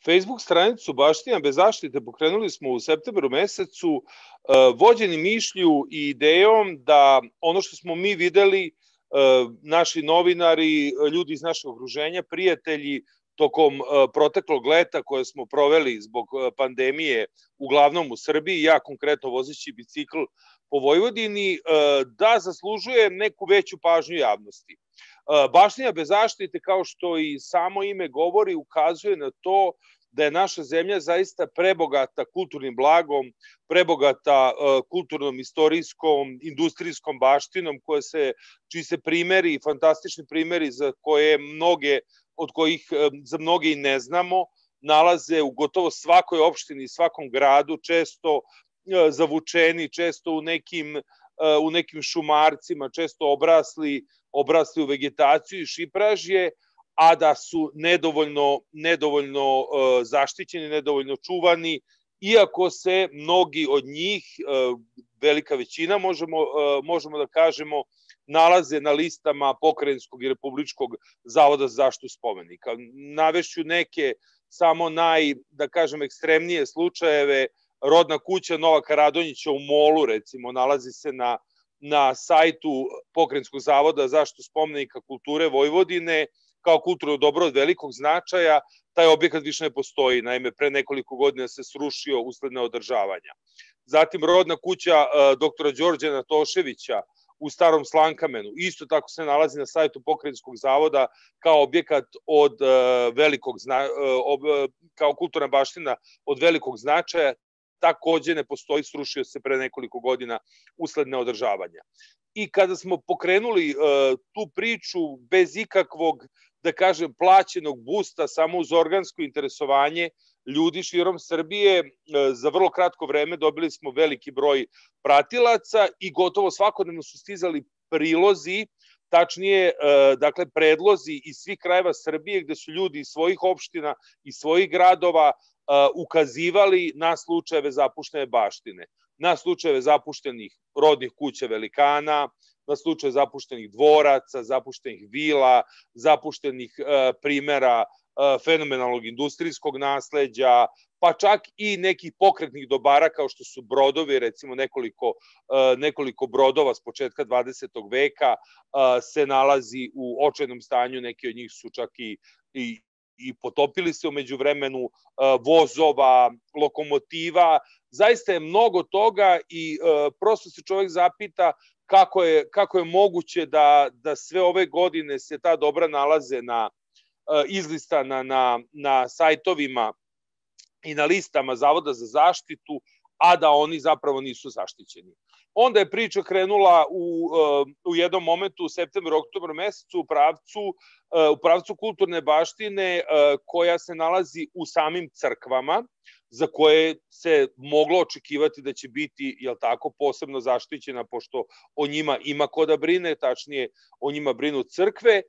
Facebook stranicu Baština bez zaštite pokrenuli smo u septembru mesecu, vođeni mišlju i idejom da ono što smo mi videli, naši novinari, ljudi iz našeg okruženja, prijatelji, tokom proteklog leta koje smo proveli zbog pandemije, uglavnom u Srbiji, ja konkretno vozeći bicikl po Vojvodini, da zaslužuje neku veću pažnju javnosti. Baština bez zaštite, kao što i samo ime govori, ukazuje na to da je naša zemlja zaista prebogata kulturnim blagom, prebogata kulturnom, istorijskom, industrijskom baštinom, čiji se primeri, fantastični primeri za koje mnoge, od kojih za mnoge i ne znamo, nalaze u gotovo svakoj opštini, svakom gradu, često zavučeni, često u nekim šumarcima, često obrasli u vegetaciju i šipražje, a da su nedovoljno zaštićeni, nedovoljno čuvani, iako se mnogi od njih, velika većina možemo da kažemo, nalaze na listama Pokrajinskog i Republičkog zavoda za zaštitu spomenika. Navešću neke samo da kažem, ekstremnije slučajeve. Rodna kuća Novaka Radonjića u Molu, recimo, nalazi se na sajtu Pokrajinskog zavoda za zaštitu spomenika kulture Vojvodine kao kulturno dobro od velikog značaja. Taj objekat više ne postoji, naime, pre nekoliko godina se srušio usled neodržavanja. Zatim, rodna kuća doktora Đorđa Natoševića u Starom Slankamenu, isto tako se nalazi na sajtu Pokrajinskog zavoda kao objekat od velikog kao kulturna baština od velikog značaja, takođe ne postoji, srušio se pre nekoliko godina usled neodržavanja. I kada smo pokrenuli tu priču bez ikakvog, da kažem, plaćenog busta, samo uz organsko interesovanje ljudi širom Srbije, za vrlo kratko vreme dobili smo veliki broj pratilaca i gotovo svakodnevno su stizali prilozi, tačnije, dakle, predlozi iz svih krajeva Srbije gde su ljudi iz svojih opština i svojih gradova ukazivali na slučajeve zapuštene baštine, na slučajeve zapuštenih rodnih kuća velikana, na slučaje zapuštenih dvoraca, zapuštenih vila, zapuštenih primera fenomenalnog industrijskog nasleđa, pa čak i nekih pokretnih dobara kao što su brodovi, recimo nekoliko brodova s početka 20. veka se nalazi u očajnom stanju, neki od njih su čak i potopili se umeđu vremenu, vozova, lokomotiva, zaista je mnogo toga i prosto se čovek zapita kako je moguće da sve ove godine se ta dobra nalaze izlistana na sajtovima i na listama Zavoda za zaštitu, a da oni zapravo nisu zaštićeni. Onda je priča krenula u jednom momentu u septembru, oktobru mesecu u pravcu kulturne baštine koja se nalazi u samim crkvama, za koje se moglo očekivati da će biti, jel tako, posebno zaštićena, pošto o njima ima ko da brine, tačnije o njima brinu crkve.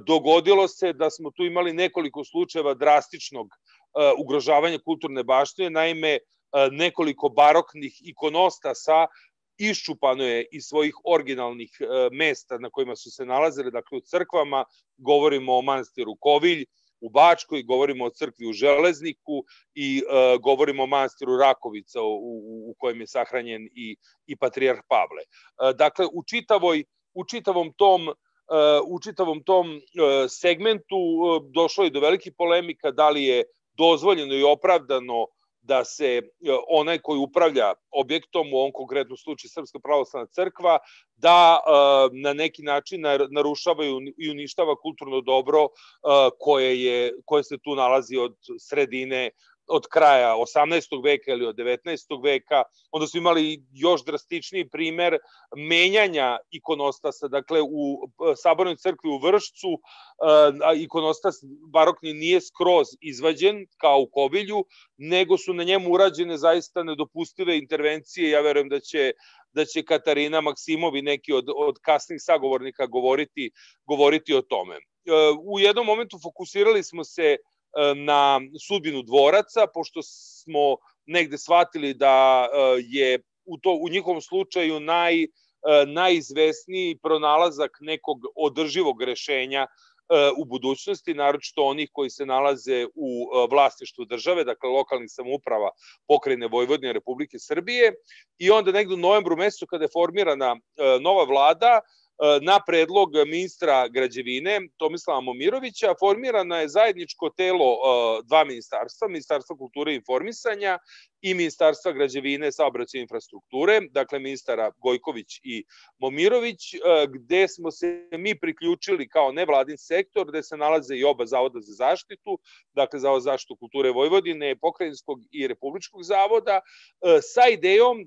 Dogodilo se da smo tu imali nekoliko slučajeva drastičnog ugrožavanja kulturne baštine, naime, nekoliko baroknih ikonostasa iščupano je iz svojih originalnih mesta na kojima su se nalazile, dakle u crkvama, govorimo o manastiru Kovilj u Bačkoj, govorimo o crkvi u Železniku i govorimo o manastiru Rakovica u kojem je sahranjen i patrijarh Pavle. Dakle, u čitavom tom segmentu došlo je do velikih polemika da li je dozvoljeno i opravdano da se onaj koji upravlja objektom, u ovom konkretnom slučaju Srpska pravoslavna crkva, da na neki način narušava i uništava kulturno dobro koje se tu nalazi od kraja 18. veka ili od 19. veka. Onda su imali još drastičniji primer menjanja ikonostasa. Dakle, u Sabornoj crkvi u Vršcu ikonostas barokni nije skroz izvađen kao u Kovilju, nego su na njemu urađene zaista nedopustive intervencije. Ja verujem da će Katarina Maksimov i neki od kasnih sagovornika govoriti o tome. U jednom momentu fokusirali smo se na sudbinu dvoraca, pošto smo negde shvatili da je u njihovom slučaju najizvesniji pronalazak nekog održivog rešenja u budućnosti, naročito onih koji se nalaze u vlasništvu države, dakle lokalnih samouprava Pokrajine Vojvodine Republike Srbije. I onda negde u novembru mesecu kada je formirana nova vlada, na predlog ministra građevine Tomislava Momirovića formirano je zajedničko telo dva ministarstva, Ministarstva kulture i informisanja i Ministarstva građevine, saobraćaja i infrastrukture, dakle ministara Gojković i Momirović, gde smo se mi priključili kao nevladin sektor, gde se nalaze i oba zavoda za zaštitu, dakle Zavod za zaštitu kulture Vojvodine, Pokrajinskog i Republičkog zavoda, sa idejom,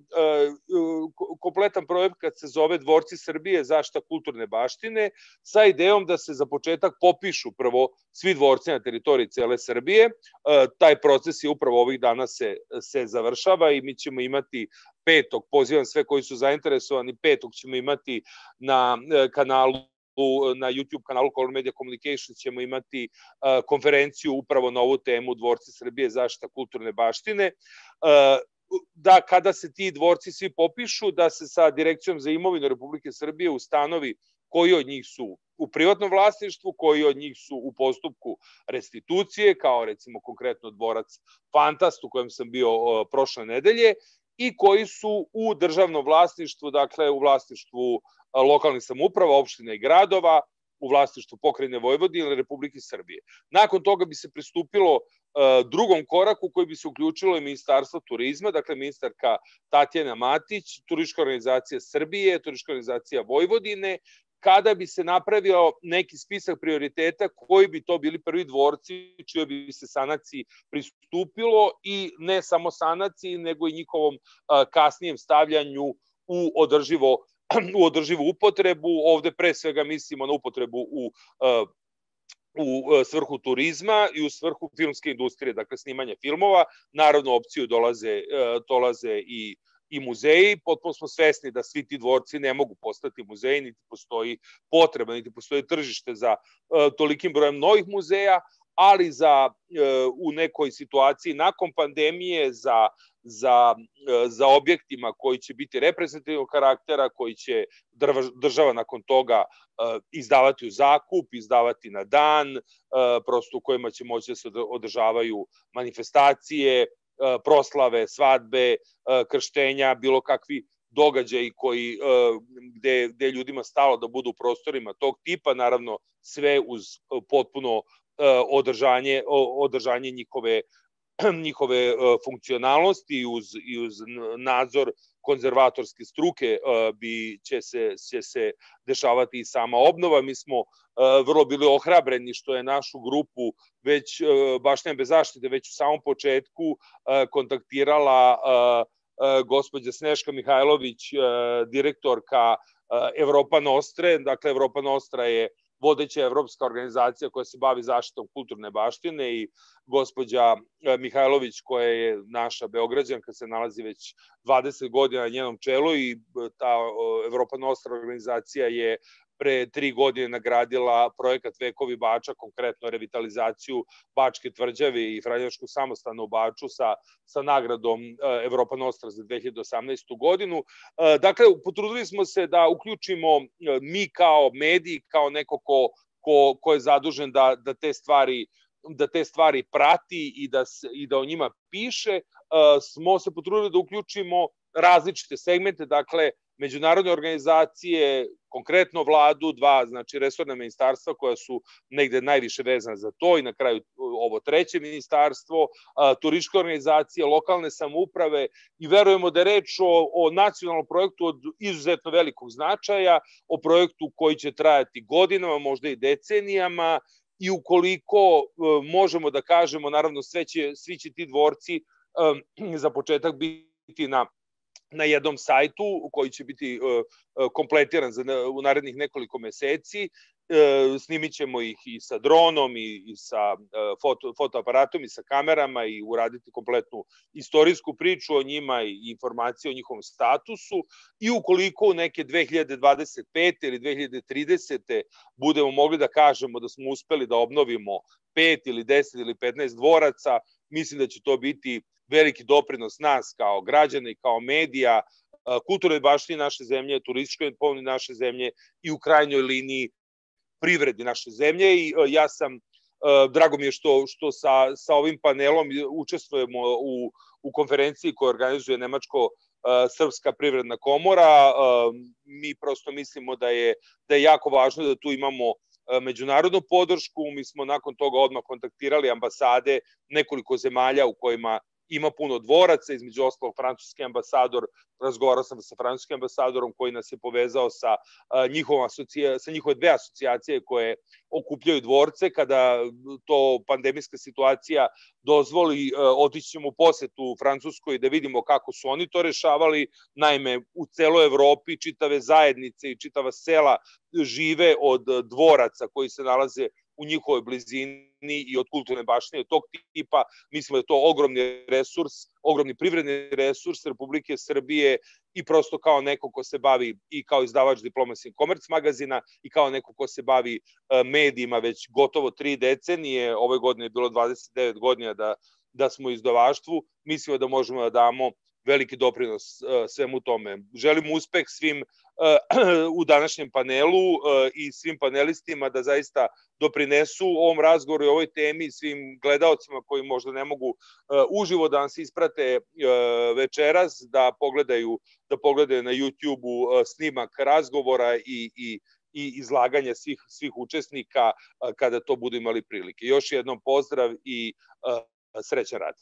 kompletan projekat se zove Dvorci Srbije, zaštita kulturne baštine, sa idejom da se za početak popišu prvo svi dvorci na teritoriji cele Srbije. Taj proces je upravo ovih dana se završava i mi ćemo imati petog, pozivam sve koji su zainteresovani, petog ćemo imati na kanalu, na YouTube kanalu Color Media Communication ćemo imati konferenciju upravo na ovu temu Dvorci Srbije, zaštita kulturne baštine, da kada se ti dvorci svi popišu, da se sa Direkcijom za imovinu Republike Srbije ustanovi koji od njih su u privatnom vlasništvu, koji od njih su u postupku restitucije, kao recimo konkretno dvorac Fantast u kojem sam bio prošle nedelje, i koji su u državnom vlasništvu, dakle u vlasništvu lokalnih samouprava, opština i gradova, u vlasništvu Pokrajine Vojvodine ili Republike Srbije. Nakon toga bi se pristupilo drugom koraku koji bi se uključilo i Ministarstvo turizma, dakle ministarka Tatjana Matić, Turistička organizacija Srbije, Turistička organizacija Vojvodine, kada bi se napravio neki spisak prioriteta koji bi to bili prvi dvorci čijoj bi se sanaciji pristupilo i ne samo sanaciji, nego i njihovom kasnijem stavljanju u održivu upotrebu. Ovde pre svega mislimo na upotrebu u svrhu turizma i u svrhu filmske industrije, dakle snimanje filmova. Naravno, u opciju dolaze i muzeji. Potpuno smo svesni da svi ti dvorci ne mogu postati muzeji, niti postoji potreba, niti postoji tržište za tolikim brojem novih muzeja, ali u nekoj situaciji nakon pandemije za objektima koji će biti reprezentativnog karaktera, koji će država nakon toga izdavati u zakup, izdavati na dan, prosto u kojima će moći da se održavaju manifestacije, proslave, svadbe, krštenja, bilo kakvi događaji gde ljudima stalo da budu u prostorima tog tipa, naravno sve uz potpuno održanje njihove funkcionalnosti i uz nadzor konzervatorske struke će se dešavati i sama obnova. Mi smo vrlo bili ohrabreni što je našu grupu već Baština bez zaštite već u samom početku kontaktirala gospođa Sneška Mihajlović, direktorka Evropa Nostre. Dakle, Evropa Nostra je vodeća evropska organizacija koja se bavi zaštitom kulturne baštine i gospođa Mihajlović, koja je naša Beograđanka, se nalazi već 20 godina na njenom čelu i ta Evropa Nostra organizacija je pre 3 godine nagradila projekat Vekovi Bača, konkretno revitalizaciju Bačke tvrđave i Franjevačkog samostana u Baču sa nagradom Evropa Nostra za 2018. godinu. Dakle, potrudili smo se da uključimo mi kao mediji, kao neko ko je zadužen da te stvari prati i da o njima piše, smo se potrudili da uključimo različite segmente, dakle, međunarodne organizacije, konkretno vladu, dva, znači resorna ministarstva koja su negde najviše vezana za to i na kraju ovo treće ministarstvo, turističke organizacije, lokalne samouprave i verujemo da je reč o nacionalnom projektu od izuzetno velikog značaja, o projektu koji će trajati godinama, možda i decenijama i ukoliko možemo da kažemo, naravno svi će ti dvorci za početak biti na jednom sajtu koji će biti kompletiran u narednih nekoliko meseci. Snimit ćemo ih i sa dronom i sa fotoaparatom i sa kamerama i uraditi kompletnu istorijsku priču o njima i informacije o njihovom statusu i ukoliko u neke 2025. ili 2030. budemo mogli da kažemo da smo uspeli da obnovimo 5 ili 10 ili 15 dvoraca, mislim da će to biti veliki doprinos nas kao građana i kao medija, kulturnoj baštini naše zemlje, turističkoj imovini naše zemlje i u krajnjoj liniji privredi naše zemlje i ja sam, drago mi je što sa ovim panelom učestvujemo u konferenciji koju organizuje Nemačko-Srpska privredna komora. Mi prosto mislimo da je jako važno da tu imamo međunarodnu podršku. Mi smo nakon toga odmah kontaktirali ambasade nekoliko zemalja u kojima ima puno dvoraca, između ostalog francuski ambasador, razgovarao sam sa francuskim ambasadorom koji nas je povezao sa njihove dve asocijacije koje okupljaju dvorce. Kada to pandemijska situacija dozvoli, otići ćemo u posetu u Francuskoj da vidimo kako su oni to rešavali. Naime, u celoj Evropi čitave zajednice i čitava sela žive od dvoraca koji se nalaze u njihovoj blizini i od kulturne baštine tog tipa. Mislimo da je to ogromni resurs, ogromni privredni resurs Republike Srbije i prosto kao neko ko se bavi i kao izdavač Diplomacy and Commerce magazina i kao neko ko se bavi medijima već gotovo 3 decenije, ove godine je bilo 29 godina da smo u izdavaštvu, mislimo da možemo da damo veliki doprinos svemu tome. Želim uspeh svim u današnjem panelu i svim panelistima da zaista doprinesu ovom razgovoru i ovoj temi, svim gledaocima koji možda ne mogu uživo da nas isprate večeras, da pogledaju na YouTube-u snimak razgovora i izlaganja svih učesnika kada to budu imali prilike. Još jednom pozdrav i srećan rad.